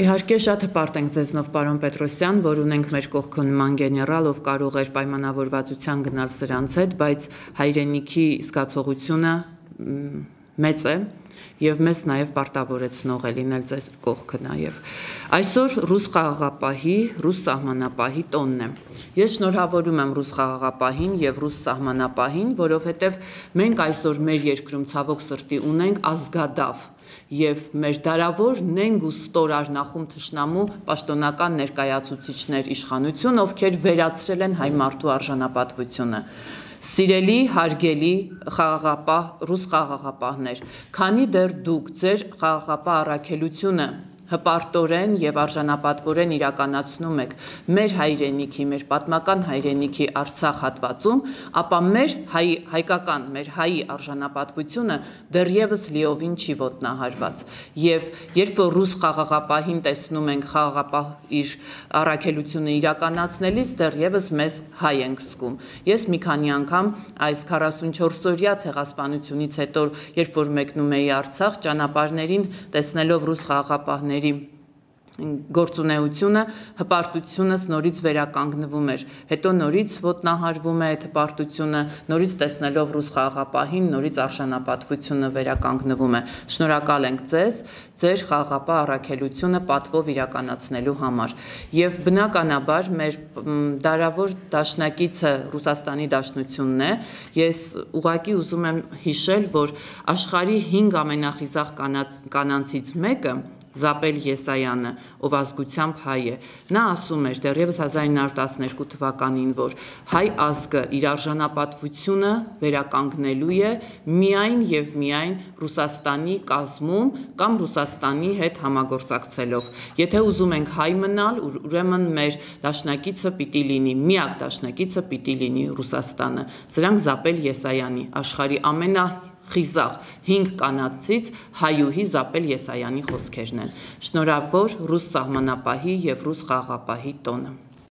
Իհարկե շատ հպարտ ենք ձեզնով պարոն Պետրոսյան, որ ունենք մեր կողքը նման գեներալ, ով կարող էր պայմանավորվածության գնալ սրանց հետ, բայց հայրենիքի զգացողությունը մեծ է եւ մեզ նաեւ պարտավորեցնող է լինել ձեր կողքը նաեւ։ Այսօր ռուս խաղաղապահի, ռուս սահմանապահի տոնն է։ Ես շնորհավորում եմ ռուս խաղաղապահին եւ ռուս սահմանապահին, որովհետեւ մենք այսօր մեր երկրում ցավոք սրտի ունենք ազգադավ եւ մեր դարավոր նենգ ու ստորար նախում թշնամու պաշտոնական ներկայացուցիչներ իշխանություն, ովքեր վերացրել են հայ մարդու արժանապատվությունը։ Սիրելի, հարգելի խաղաղապահ, ռուս խաղաղապահներ, քանի դեռ դուք ձեր խաղաղապահ առաքելությունը հպարտորեն եւ արժանապատվորեն իրականացնում եք մեր հայրենիքի, մեր պատմական հայրենիքի Արցախ հատվածում, ապա մեր հայկական, մեր հայի արժանապատվությունը դեռևս լիովին չի ոտնահարված։ Եվ երբ որ ռուս խաղաղապահին տեսնում ենք խաղաղապահ իր առաքելությունը իրականացնելիս, դեռևս մեզ հայ ենք զգում։ Ես մի քանի անգամ այս 44-օրյա ցեղասպանությունից հետո, երբ որ մեկնում էի Արցախ, ճանապարհներին տեսնելով ռուս խաղաղապահների գործունեությունը, հպարտությունս նորից վերականգնվում էր, հետո նորից ոտնահարվում է այդ հպարտությունը, նորից տեսնելով ռուս խաղաղապահին, նորից արժանապատվությունը վերականգնվում է։ Շնորհակալ ենք ձեզ, ձեր խաղաղապահ առաքելությունը պատվով իրականացնելու համար։ Եվ բնականաբար մեր դարավոր դաշնակիցը Ռուսաստանի Դաշնությունն է։ Ես ուղղակի ուզում եմ հիշել, որ աշխարհի 5 ամենախիզախ կանանցից մեկը Զապել Եսայանը, ով ազգությամբ հայ է, նա ասում էր դեռևս 1912 թվականին, որ հայ ազգը իր արժանապատվությունը վերականգնելու է միայն եւ միայն Ռուսաստանի կազմում կամ Ռուսաստանի հետ համագործակցելով։ Եթե ուզում ենք հայ մնալ, ուրեմն մեր դաշնակիցը պիտի լինի, միակ դաշնակիցը պիտի լինի Ռուսաստանը։ Սրանք Զապել Եսայանի, աշխարհի ամենախիզախ 5 կանանցից հայուհի Զապել Եսայանի խոսքերն են։ Շնորհավոր ռուս սահմանապահի եւ ռուս խաղաղապահի տոնը։